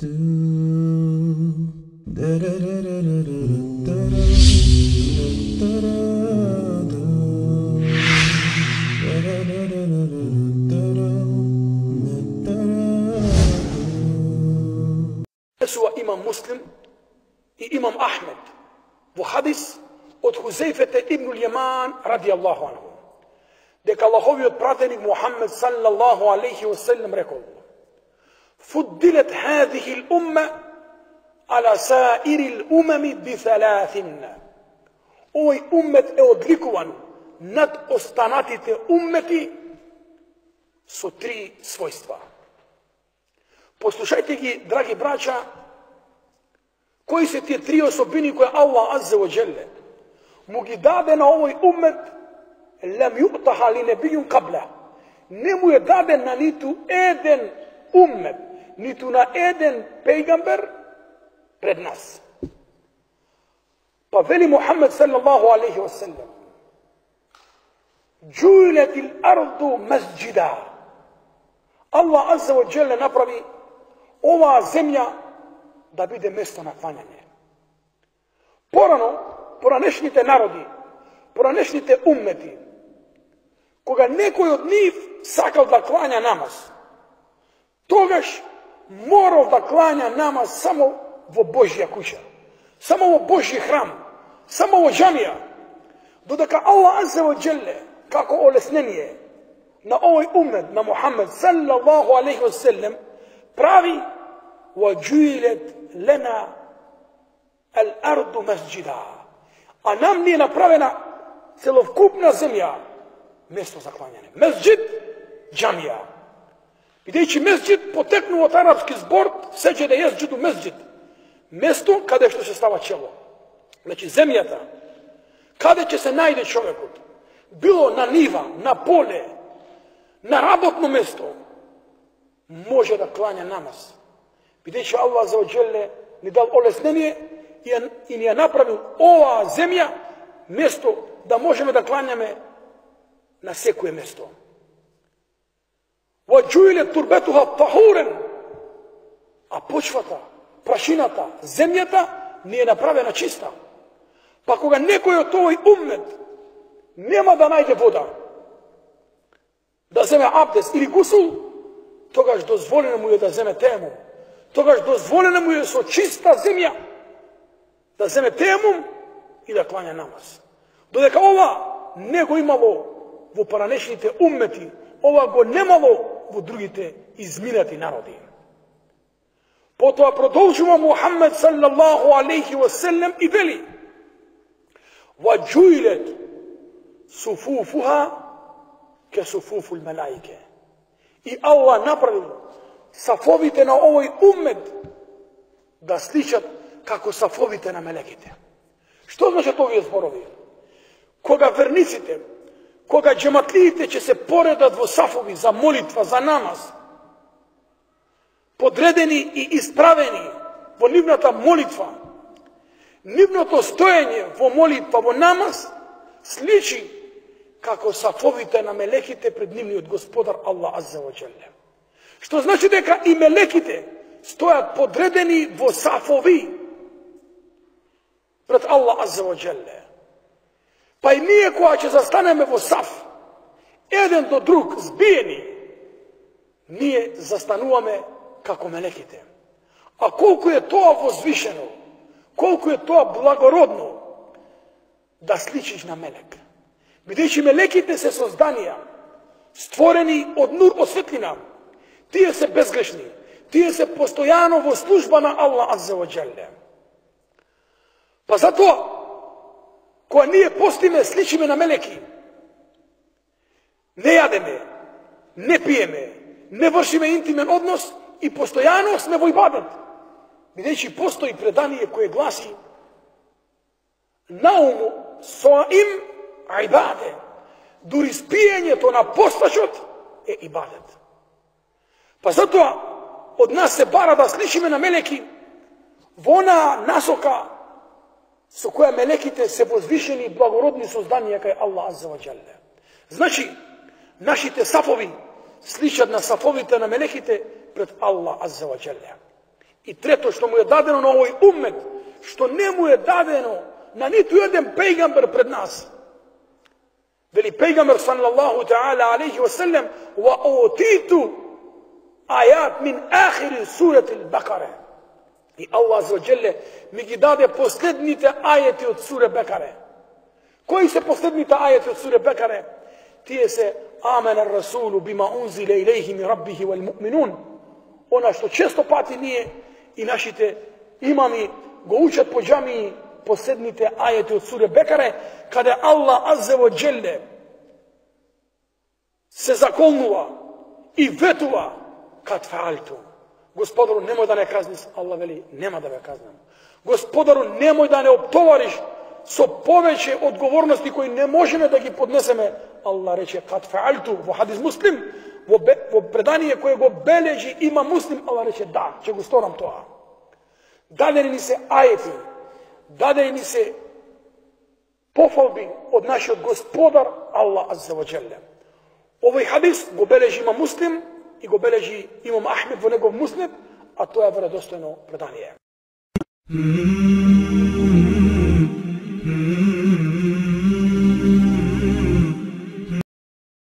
Imam Muslim i Imam Ahmed во хадис од Хузейфете ибн Јаман радијаллаху анху, дека Аллаховиот пратеник Мухаммед саллаллаху алейхи ва селлем рекол: "Фуддилат ҳазихи л-умма ала саири л-умами би саласин." Овој уммет е одликуван над останатите уммети со три својства. Послушајте ги, драги браќа, кои се тие три особини кои Аллах аззе ва джелле му ги даде на овој уммет, лем ю'таха ли небијун кабла. Не му е даден на ниту еден уммет, ниту на еден пејгамбер пред нас. Па вели Мухаммед саллаллаху алейхи ва селлем: "Джуилат ал-арду масџида." Аллах аззе ва джелле направи оваа земја да биде место на клањање. Порано, поранешните народи, поранешните уммети, кога некој од нив сакал да клања намаз, тогаш морал да клања намаз само во Божја куќа, само во Божји храм, само во џамија, додека Аллах аззе ва джелле, како олеснение на овој уммет, на Мухаммед саллаллаху алейхи ва селлем, прави: "Ваџуилет лена ал-арду масџида." А нам ни е направена целокупна земја место за клањање. Месџид, џамија. Бидејќи месџид потекнува од арапски збор сеџеде јесџуду месџид, место каде што се става чело. Значи земјата каде ќе се најде човекот, било на нива, на поле, на работно место, може да клања намаз. Бидејќи Аллах за оџеле ни дал олеснение и ни ја направил оваа земја место да можеме да клањаме на секое место. وَجُعِلَتْ تُرْبَتُهَا طَهُورًا. А почвата, прашината, земјата ни е направена чиста. Па кога некој од овој уммет нема да најде вода, да земе абдес или гусул, тогаш дозволено му е да земе теемум. Тогаш дозволено му е со чиста земја да земе теемум и да клања намаз. Додека ова не го имало во поранешните уммети, ова го немало во другите изминати народи. Потоа продолжува Мухаммед саллаллаху алейхи ва селлем и вели: "Ваџуилет суфуфуха ке суфуфул малаике." И Аллах направил сафовите на овој уммет да сличат како сафовите на мелеките. Што значат овие зборови? Кога верниците, кога џематлиите ќе се поредат во сафови за молитва, за намаз, подредени и исправени во нивната молитва, нивното стоење во молитва, во намаз, сличи како сафовите на мелеките пред нивниот Господар Аллах азза ва џелле. Што значи дека и мелеките стојат подредени во сафови пред Аллах азза ва џелле. Па и ние кога ќе застанеме во саф, еден до друг збиени, ние застануваме како мелеките. А колку е тоа возвишено, колку е тоа благородно да сличиш на мелек. Бидејќи мелеките се созданија, створени од нур, од светлина. Тие се безгрешни, тие се постојано во служба на Аллах азза ва џелле. Па затоа, кога ние постиме, сличиме на мелеки, не јадеме, не пиеме, не вршиме интимен однос и постојано сме во ибадет. Бидејќи постои предание кое гласи: "Науму соим ибаде." Дури спиењето на постачот е ибадет. Па затоа од нас се бара да сличиме на мелеки во она насока со која мелеките се возвишени и благородни созданија кај Аллах азза ва џелле. Значи, нашите сафови сличат на сафовите на мелеките пред Аллах азза ва џелле. И трето што му е дадено на овој уммет, што не му е дадено на ниту еден пејгамбер пред нас. Вели пејгамбер саллаллаху таала алейхи ва саллем: "Ва утиту ајат мин ахири сурати ал-Бакара." И Аллах азza wa jalla ми ги даде последните ајети од сура Бекаре. Кои се последните ајети од сура Бекаре? Тие се амена расулу бима унзиле илейхи мин раббихи вал муъминун. Она што често пати ние и нашите имами го учат по џамии, последните ајети од сура Бекаре, каде Аллах азza wa jalla се заколнува и ветува: "Кад фаалту." Господару, немој да не казниш. Аллах вели: "Нема да ве казнам." Господару, немој да не оптовариш со повеќе одговорности кои не можеме да ги поднесеме. Аллах рече: "Кад фаалту." Во хадис Муслим, во предание кое го бележи има Муслим, Аллах рече: "Да, ќе го сторам тоа." Дадени ни се ајети, дадени ни се пофалби од нашиот Господар Аллах азza wa jalla. Овој хадис го бележи има Муслим и го бележи имам Ахмед во негов Муснед, а тоа е веродостојно предание.